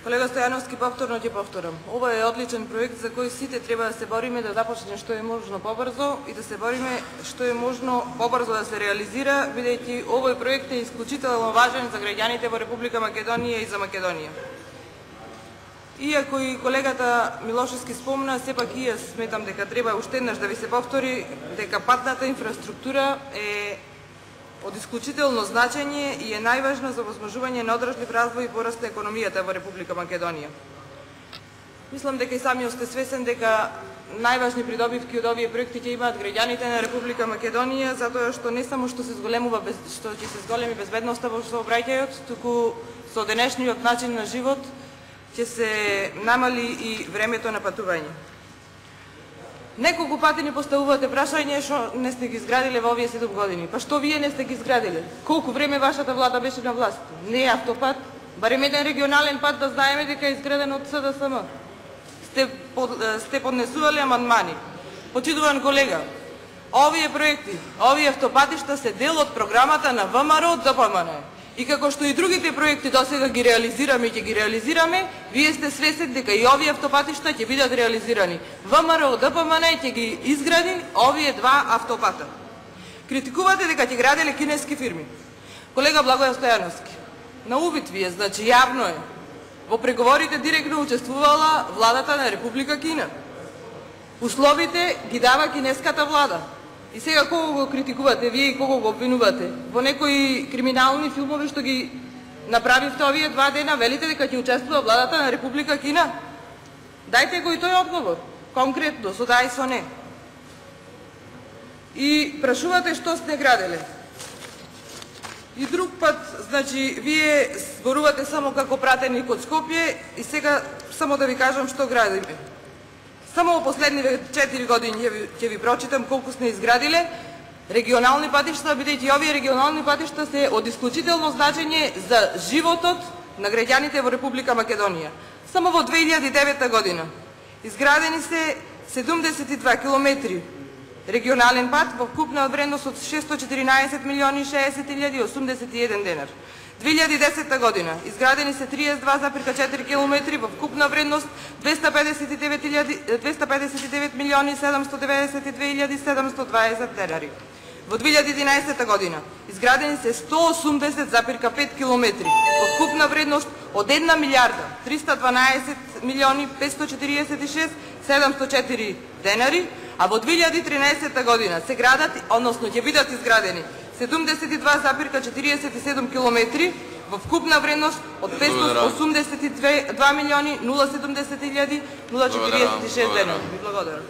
Колега Стојановски, повторно ќе повторам. Ова е одличен проект за кој сите треба да се бориме да започне што е можно побрзо и да се бориме што е можно побрзо да се реализира, бидејќи овој проект е исклучително важен за граѓаните во Република Македонија и за Македонија. Иако и колегата Милошевски спомна, сепак и јас сметам дека треба уште еднаш да ви се повтори дека патната инфраструктура е од исклучително значење и е најважна за овозможување на одржлив развој и пораст на економијата во Република Македонија. Мислам дека и самиот сте свесен дека најважни придобивки од овие проекти ќе имаат граѓаните на Република Македонија, затоа што не само што се ќе се зголеми безбедноста во сообраќајот, туку со денешниот начин на живот ќе се намали и времето на патување. Неколку пати ни поставувате прашање што не сте ги изградиле во овие 7 години. Па што вие не сте ги изградиле? Колку време вашата влада беше на власт? Не е автопат, барем еден регионален пат да знаеме дека е изграден од СДСМ. Сте поднесувале амандмани. Почитуван колега, овие проекти, овие автопатишта се дел од програмата на ВМРО ДПМН. И како што и другите проекти досега ги реализираме и ќе ги реализираме, вие сте свесен дека и овие автопатишта ќе бидат реализирани. ВМРО ДПМН ќе ги изгради овие два автопата. Критикувате дека ќе граделе кинески фирми. Колега Благоје Стојановски, на увид ви е, значи јавно е. Во преговорите директно учествувала владата на Република Кина. Условите ги дава кинеската влада. И сега кого го критикувате вие и кого го обвинувате? Во некои криминални филмови што ги направивте овие 2 дена, велите дека ќе учествува владата на Република Кина? Дајте го и тој одговор, конкретно, со да и со не. И прашувате што сте граделе. И друг пат, значи, вие зборувате само како пратеник од Скопје и сега само да ви кажам што градиме. Само во последниве 4 години ќе ви прочитам колку сме изградиле регионални патишта, бидејќи овие регионални патишта се од исклучително значење за животот на граѓаните во Република Македонија. Само во 2009 година изградени се 72 километри регионален пат во вкупна вредност од 614 милиони 60 илјади 81 денар. 2010 година изградени се 32,4 километри во вкупна вредност 259 милиони 792 илјади 720 денари. Во 2011 година изградени се 180,5 километри во вкупна вредност од 1 милијарда 312 милиони 546 704 денари, а во 2013 година се градат, односно ќе бидат изградени 72,47 километри во вкупна вредност од 582 милиони 070 илјади 046 денари. Благодарам.